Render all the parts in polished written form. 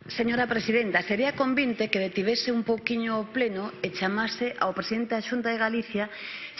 Señora Presidenta, sería convinte que detivese un pouquiño o pleno e chamase ao presidente da Xunta de Galicia,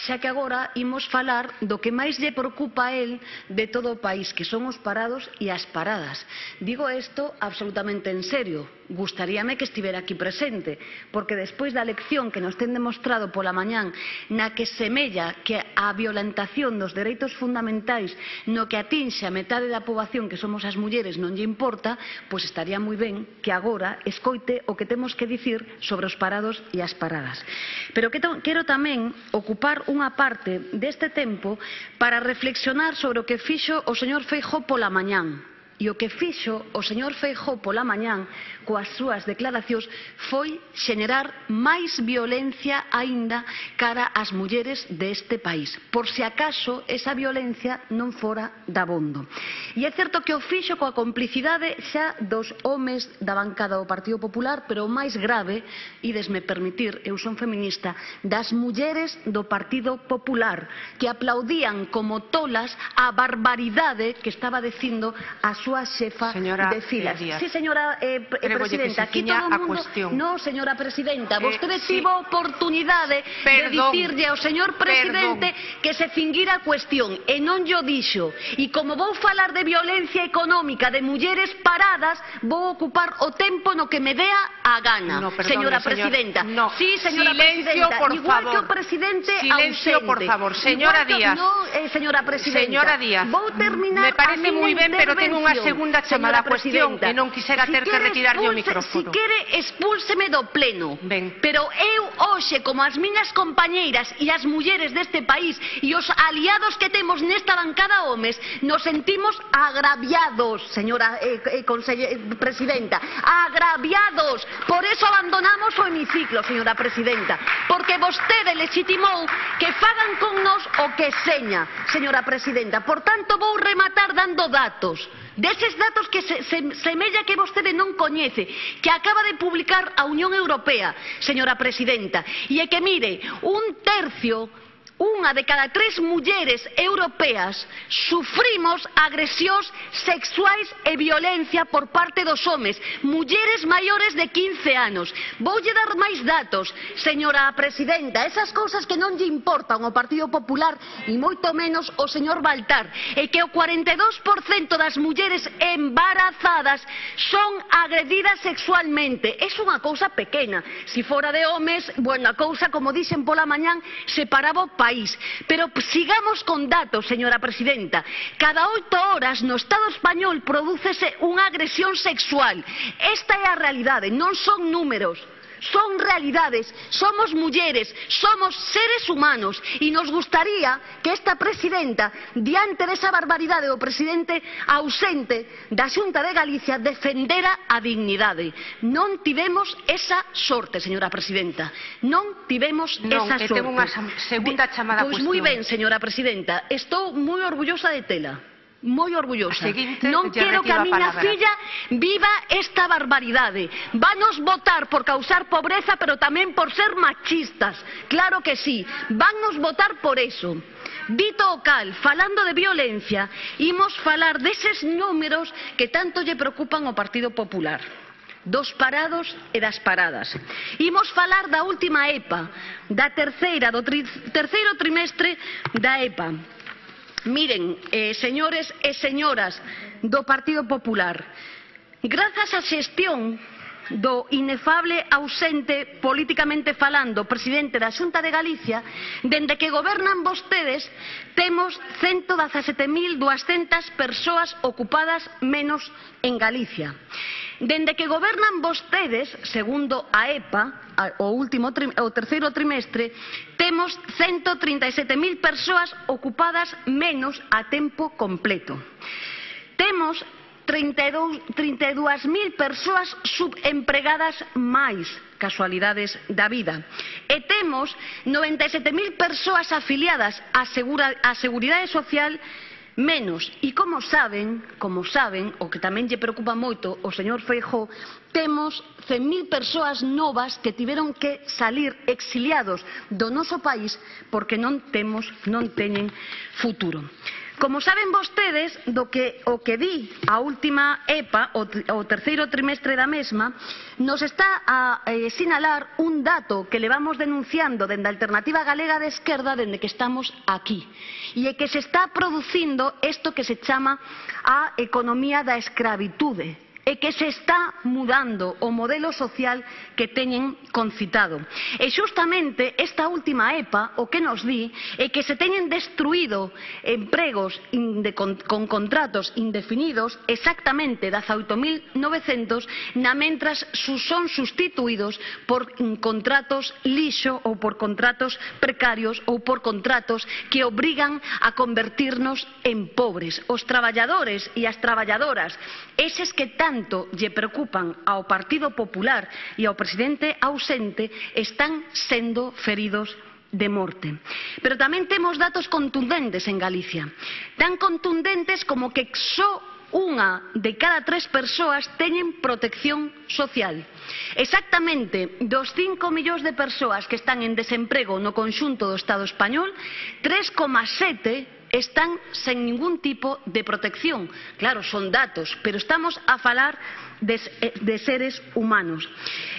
xa que agora imos falar do que máis lle preocupa a él de todo o país, que son os parados e as paradas. Digo isto absolutamente en serio. Gustaríame que estivera aquí presente, porque despois da lección que nos ten demostrado pola mañán, na que semella que a violentación dos dereitos fundamentais no que atinxe a metade da poboación que somos as mulleres non lle importa, pois estaría moi ben que agora escoite o que temos que dicir sobre os parados e as paradas. Pero quero tamén ocupar unha parte deste tempo para reflexionar sobre o que fixo o señor Feijóo pola mañán. E o que fixo o señor Feijóo pola mañán coas súas declaracións foi xenerar máis violencia aínda cara ás mulleres deste país, por se acaso esa violencia non fora dabondo. E é certo que o fixo coa complicidade xa dos homes da bancada do Partido Popular, pero o máis grave, idesme permitir, eu son feminista, das mulleres do Partido Popular, que aplaudían como tolas a barbaridade que estaba dicindo a súa xefa de filas. Sí, señora Presidenta, aquí todo o mundo... No, señora Presidenta, vostede tivo oportunidade de dicirlle ao señor Presidente que se finguira a cuestión e non llo dixo. E como vou falar de violencia económica de mulleres paradas, vou ocupar o tempo no que me dea a gana, señora Presidenta. Sí, señora Presidenta, igual que o Presidente ausente. Silencio, por favor. Señora Díaz. No, señora Presidenta. Señora Díaz, vou terminar me parece moi ben, pero tengo unha segunda chamada a cuestión e non quisera ter que retirarlle o micrófono. Si quere, expúlseme do pleno. Pero eu hoxe, como as miñas compañeiras e as mulleres deste país e os aliados que temos nesta bancada homes, nos sentimos agraviados, señora Presidenta, agraviados. Por eso abandonamos o hemiciclo, señora Presidenta, porque vostede legitimou que fagan con nos o que seña, señora Presidenta. Por tanto, vou rematar dando datos. Deses datos que semella que vostede non coñece, que acaba de publicar a Unión Europea, señora Presidenta, e é que, mire, un tercio, unha de cada 3 mulleres europeas sufrimos agresións sexuais e violencia por parte dos homes, mulleres maiores de 15 anos. Voulle dar máis datos, señora Presidenta, esas cousas que non lle importan ao Partido Popular e moito menos ao señor Baltar, e que o 42% das mulleres embarazadas son agredidas sexualmente. É unha cousa pequena. Se fora de homes, bueno, a cousa, como dixen pola mañán, se paraba o país. Pero sigamos con datos, señora Presidenta. Cada 8 horas no Estado español prodúcese unha agresión sexual. Esta é a realidade, non son números. Son realidades, somos mulleres, somos seres humanos e nos gustaría que esta Presidenta, diante desa barbaridade do Presidente ausente da Xunta de Galicia, defendera a dignidade. Non tivemos esa sorte, señora Presidenta, non tivemos esa sorte. Ten unha segunda chamada a cuestión. Pois moi ben, señora Presidenta, estou moi orgullosa de tela. Moi orgullosa. Non quero que a miña filla viva esta barbaridade. Vanos votar por causar pobreza, pero tamén por ser machistas. Claro que sí, vannos votar por eso. Dito o cal, falando de violencia, imos falar deses números que tanto lle preocupan ao Partido Popular, dos parados e das paradas. Imos falar da última EPA, da do terceiro trimestre da EPA. Miren, señores e señoras do Partido Popular, grazas á xestión do inefable ausente, políticamente falando, presidente da Xunta de Galicia, dende que gobernan vostedes, temos 117.200 persoas ocupadas menos en Galicia. Dende que gobernan vostedes, segundo a EPA, o terceiro trimestre, temos 137.000 persoas ocupadas menos a tempo completo. Temos 32.000 persoas subempregadas máis, casualidades da vida. E temos 97.000 persoas afiliadas á Seguridade Social menos. E como saben, o que tamén lle preocupa moito o señor Feijóo, temos 100.000 persoas novas que tiveron que salir exiliados do noso país porque non teñen futuro. Como saben vostedes, o que di a última EPA, o terceiro trimestre da mesma, nos está a sinalar un dato que levamos denunciando dende a Alternativa Galega de Esquerda dende que estamos aquí. E é que se está producindo isto que se chama a economía da escravitude, e que se está mudando o modelo social que teñen concitado. E xustamente esta última EPA o que nos di é que se teñen destruído empregos con contratos indefinidos, exactamente 18.900, na mentras son sustituídos por contratos lixo ou por contratos precarios ou por contratos que obrigan a convertirnos en pobres. Os traballadores e as traballadoras, eses que tanto lle preocupan ao Partido Popular e ao presidente ausente, están sendo feridos de morte. Pero tamén temos datos contundentes en Galicia, tan contundentes como que só unha de cada 3 persoas teñen protección social. Exactamente dos 5 millóns de persoas que están en desemprego no conxunto do Estado español, 3,7 están sen ningún tipo de protección. Claro, son datos, pero estamos a falar de seres humanos.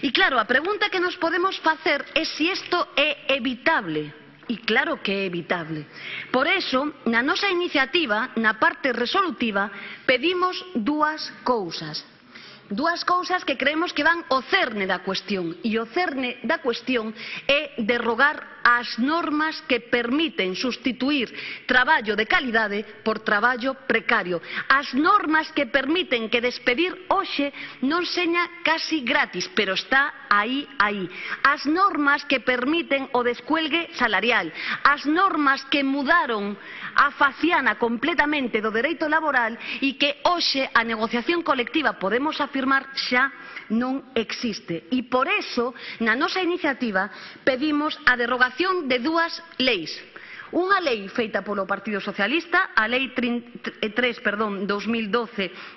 E claro, a pregunta que nos podemos facer é se isto é evitable. E claro que é evitable. Por eso, na nosa iniciativa, na parte resolutiva, pedimos dúas cousas. Dúas cousas que creemos que van ao cerne da cuestión. E o cerne da cuestión é derrogar as normas que permiten sustituir traballo de calidade por traballo precario. As normas que permiten que despedir hoxe non seña casi gratis, pero está aí. As normas que permiten o descuelgue salarial. As normas que mudaron a faciana completamente do dereito laboral e que hoxe a negociación colectiva podemos afirmar xa non existe. E por eso, na nosa iniciativa, pedimos a derogación de dúas leis. Unha lei feita polo Partido Socialista, a Lei 3/2012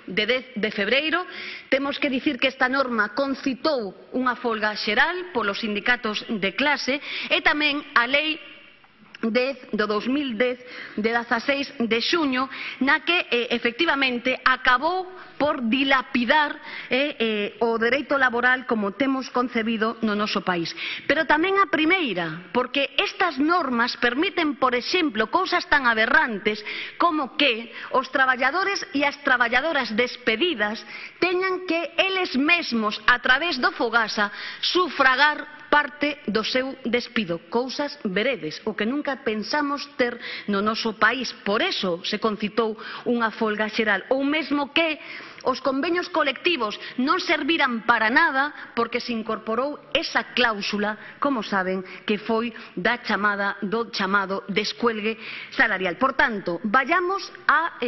de 10 de febreiro. Temos que dicir que esta norma concitou unha folga xeral polos sindicatos de clase, e tamén a Lei 10 do 2010 de 16 de xuño, na que efectivamente acabou por dilapidar o dereito laboral como temos concebido no noso país. Pero tamén a primeira, porque estas normas permiten, por exemplo, cousas tan aberrantes como que os traballadores e as traballadoras despedidas teñan que eles mesmos, a través do Fogasa, sufragar parte do seu despido, cousas veredes, o que nunca pensamos ter no noso país. Por eso se concitou unha folga xeral, ou mesmo que os convenios colectivos non serviran para nada porque se incorporou esa cláusula, como saben, que foi do chamado descuelgue salarial. Por tanto, vayamos á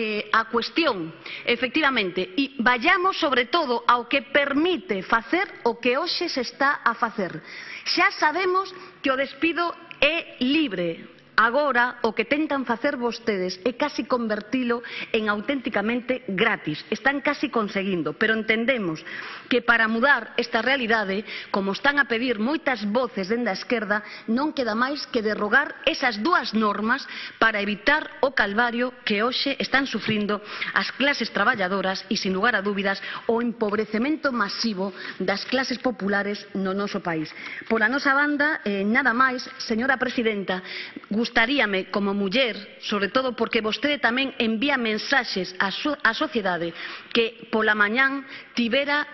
cuestión, efectivamente, e vayamos sobre todo ao que permite facer o que hoxe se está a facer. Xa sabemos que o despido é libre. Agora, o que tentan facer vostedes é casi convertilo en auténticamente gratis. Están casi conseguindo, pero entendemos que para mudar esta realidade, como están a pedir moitas voces dende a esquerda, non queda máis que derrogar esas dúas normas para evitar o calvario que hoxe están sufrindo as clases traballadoras e, sin lugar a dúbidas, o empobrecemento masivo das clases populares no noso país. Pola nosa banda, nada máis, señora presidenta, gustaríame como muller, sobre todo porque vostede tamén envía mensaxes á sociedade, que pola mañán tivera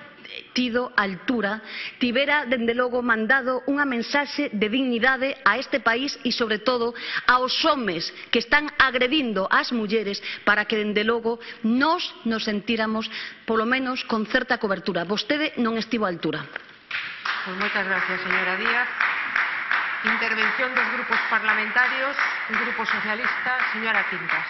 tido altura, tivera, dende logo, mandado unha mensaxe de dignidade a este país e, sobre todo, aos homes que están agredindo ás mulleres para que, dende logo, nos sentíramos, polo menos, con certa cobertura. Vostede non estivo á altura. Pues moitas gracias, señora Díaz. Intervención dos grupos parlamentarios. El Grupo Socialista, señora Quintas.